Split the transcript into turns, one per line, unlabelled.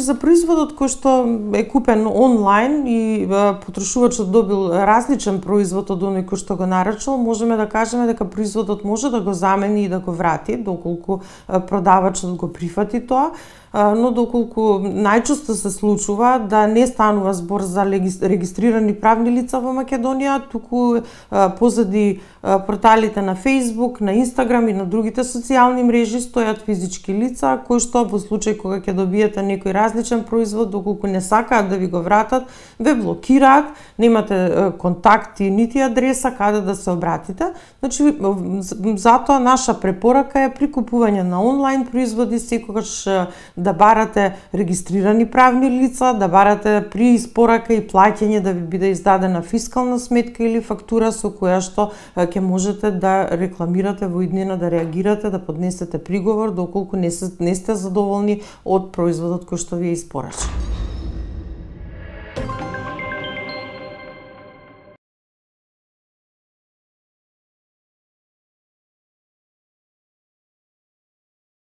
За производот кој што е купен онлайн и потрошувачот добил различен производ од оној кој што го нарачал, можеме да кажеме дека производот може да го замени и да го врати, доколку продавачот го прифати тоа, но доколку најчесто се случува да не станува збор за регистрирани правни лица во Македонија, туку позади порталите на Facebook, на Instagram и на другите социјални мрежи стојат физички лица кои што во случај кога ќе добиете некој различен производ, доколку не сакаат да ви го вратат, ве блокираат, немате контакти нити адреса каде да се обратите. Значи, затоа наша препорака е при купување на онлайн производи секогаш да барате регистрирани правни лица, да барате при испорака и плаќање да ви биде издадена фискална сметка или фактура со која што ќе можете да рекламирате во иднина, да реагирате, да поднесете приговор доколку не сте задоволни од производот кој што ви е испорачен.